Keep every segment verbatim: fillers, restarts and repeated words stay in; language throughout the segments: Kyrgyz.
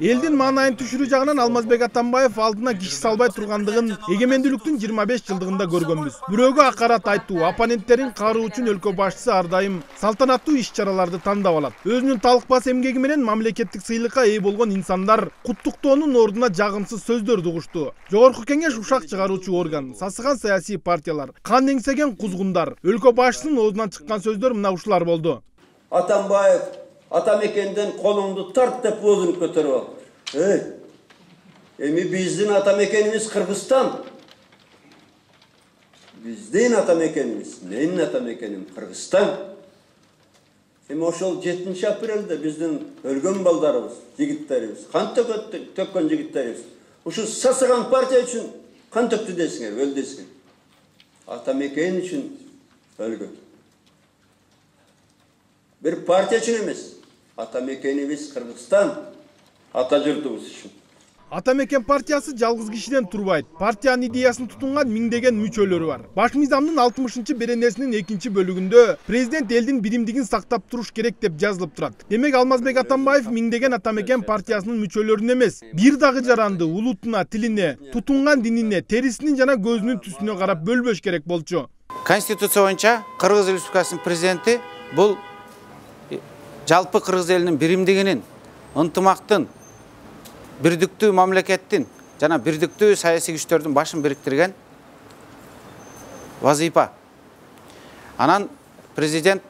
Элдин маанайын түшүрүү жагынан Алмазбек Атамбаев алдына киши салбай тургандыгын эгемендүүлүктүн жыйырма беш жылдыгында көргөнбүз. Бирөөгө акарат айтуу, оппоненттерин кароо үчүн өлкө башчысы ар дайым салтанаттуу иш-чараларды тандап алат. Өзүнүн талыкпас эмгеги менен мамлекеттик сыйлыкка ээ болгон инсандар куттуктоонун ордуна жагымсыз сөздөрдү угушту. Жогорку кеңеш ушак чыгаруучу орган, сасыган саясий партиялар, кан эңсеген кузгундар, өлкө башчысынын оозунан чыккан сөздөр мына ушулар болду. Атамбаев атамекенден колуңду тарт деп өзүн көтөрүп ал. Эй, эми биздин атамекенибиз Кыргызстан. Биздин атамекенибиз, менин атамекеним Кыргызстан. Эми ошол жетинчи апрелде биздин өлгөн балдарыбыз, жигиттерибиз, кан төккөн жигиттерибиз ушу сасыган партия үчүн кан төктү десиңер, өл десиңер. Атамекен үчүн өлгөн. Бир партия үчүн эмес. Атамекенибиз Кыргызстан, ата журтубуз үчүн. Атамекен партиясы жалгыз кишиден турбайт. Партиянын идеясын тутунган миңдеген мүчөлөрү бар. Баш мыйзамдын алтымышынчы беренесинин экинчи бөлүгүндө президент элдин биримдигин сактап туруш керек деп жазылып турат. Демек Алмазбек Атамбаев миңдеген Атамекен партиясынын мүчөлөрүн эмес, бир дагы жаранды улутуна, тилине, тутунган динине, терисинин жана көзүнүн түсүнө карап бөлбөш керек болчу. Конституция боюнча Кыргыз Республикасынын президенти бул жалпы Кыргыз элинин биримдигинин, ынтымактын, бирдиктүү мамлекеттин жана бирдиктүү саясий күчтөрдүн башын бириктирген вазифа. Анан президент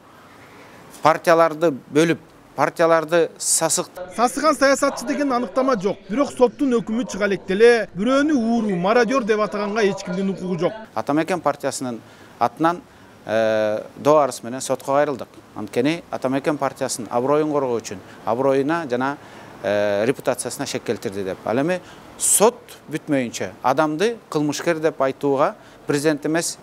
партияларды бөлүп, партияларды сасык. Сасыган саясатчы деген аныктама жок. Бирок соттун өкүмү чыга электе бирөөнү ууру, мародер деп атаганга эч кимдин укугу жок. Атамекен партиясынын атынан доо арыз менен сотко кайрылдык. Анткени Атамекен партиясынын аброюн коргоо үчүн, аброюна жана репутациясына шек келтирди деп. Ал эми сот бүтмөйүнчө адамды кылмышкер деп айтууга президент эмес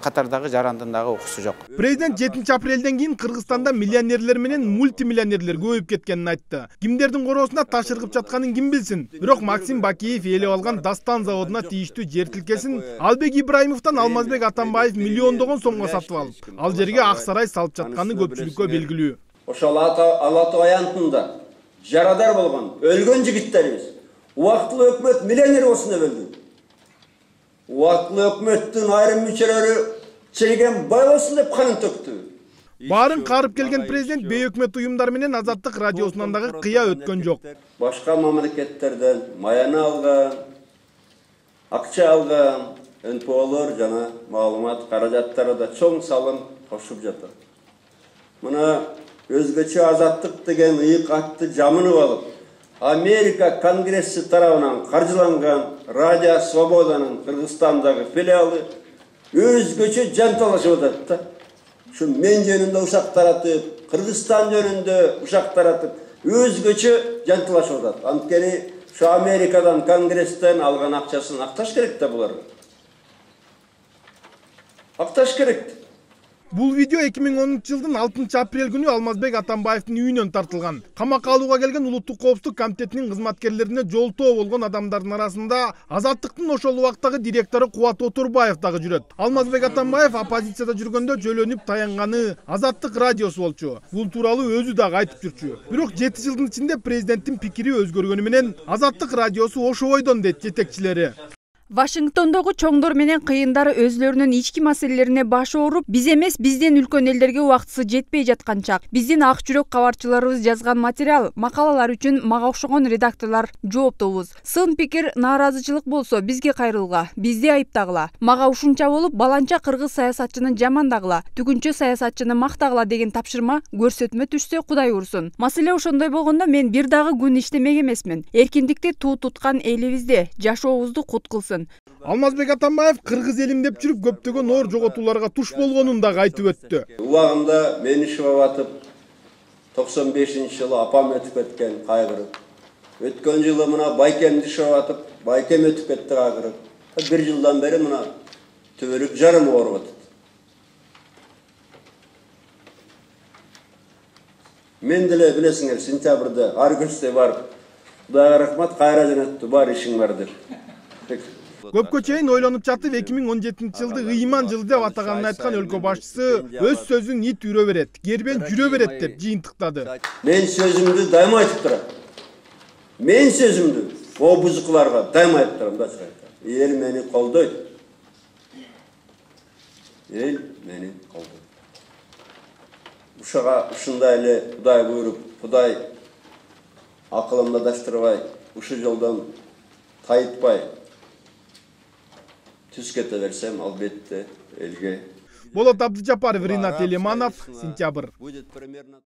катардагы жарандын дагы укугусу жок. Президент жетинчи апрелден кийин Кыргызстанда миллионерлер менен мультимиллионерлер көбөйүп кеткенин айтты. Кимдердин короосунда таш ыргып жатканын ким билсин. Бирок Максим Бакиев ээлеп алган Дастан заводуна тийиштүү жер тилкесин Албек Ибраимовдон Алмазбек Атамбаев миллиондогон сомго сатып алып, ал жерге ак сарай салып жатканы көпчүлүккө белгилүү. Ошол Алатоо аянтында жарадар болгон, өлгөн жигиттерибиз убактылуу өкмөт миллионер болсун деп өлдү. Убактылуу өкмөттүн айрым мүчөлөрү чейген бай болсун деп канын төктү. Баарын карып келген президент бейөкмөт уюмдар менен Азаттык радиосунан дагы кыя өткөн жок. Башка мамлекеттерден маяны алган, акча алган эн пэ олор жана маалымат каражаттары да чоң салым кошуп жатат. Мына өзгөчө Азаттык деген ыйык атты жамынып алып, Америка Конгресси тарабынан каржыланган Радио Свободанын Кыргызстандагы филиалы өзгөчө жанталашып атат да. Şu men жөнүндө ушак таратып, Кыргызстан жөнүндө ушак таратып, өзгөчө жантылашып атат. Анткени şu Америкадан, Конгресстен алган акчасын акташ керек да булар. Акташ керек. Бул видео эки миң онунчу жылдын алтынчы апрель күнү Алмазбек Атамбаевдин үйүнөн тартылган. Камакка алууга келген Улуттук коопсуздук комитетинин кызматкерлерине жолтоо болгон адамдардын арасында Азаттыктын ошол убактагы директору Кубат Отурбаев дагы жүрөт. Алмазбек Атамбаев оппозицияда жүргөндө жөлөнүп таянганы Азаттык радиосу болчу. Бул тууралуу өзү дагы айтып жүрчү. Бирок жети жылдын ичинде президенттин пикири өзгөргөнү менен Азаттык радиосу ошо ойдон дейт жетекчилери. Вашингтондогу чоңдор менен кыйындар өзлөрүнүн ички маселелерине баш ооруп, биз эмес, бизден үлкөн элдерге убактысы жетпей жаткан чак. Биздин ак жүрөк кабарчыларыбыз жазган материал, макалалар үчүн мага окшогон редакторлор жооптобуз. Сын пикир, нааразычылык болсо бизге кайрылгыла, бизди айыптагыла. Мага ушунча болуп, баланча кыргыз саясатчыны жамандагыла, түгүнчө саясатчыны мактагыла деген тапшырма көрсөтмө түшсө Кудай урсун. Маселе ошондой болгондо мен бир дагы күн иштемек эмесмин. Эркиндикти туу туткан элибизде жашообузду кут кылсын. Алмазбек Атамбаев кыргыз элим деп жүрүп көптөгөн оор жоготууларга туш болгонун дагы айтып өттү. Убагында мен ишип атып токсон бешинчи жылы апам өтүп кеткен кайгырып. Өткөн жылы мына байкемди ишип атып, байкем өтүп кетти кайгырып. Бир жылдан бери мына төбөлүк жарым ооруп атат. Мен деле билесиңер, сентябрда Аргүстө барып, Кудайга рахмат, кайра жөнөттү, бар ишиң бар деп. Көпкө чейин ойлонуп жатып эки миң он жетинчи жылды ыйман жылы деп атаганын айткан өлкө башчысы өз сөзүн ит үрө берет, кербен жүрө берет деп жыйынтыктады. Мен сөзүмдү дайыма айтып турам. мен сөзүмдү о бузукуларга дайым айтып турам да, чыгайт. Эл мени колдойт. Эл мени колдойт. Ушага ушундай эле Кудай буйруп, Кудай акылымды адаштырбай, ушу жолдон тайытпай түз кете берсем, албетте элге. Болот Абдыжапаров, Ринат Элиманов, Сентябрь.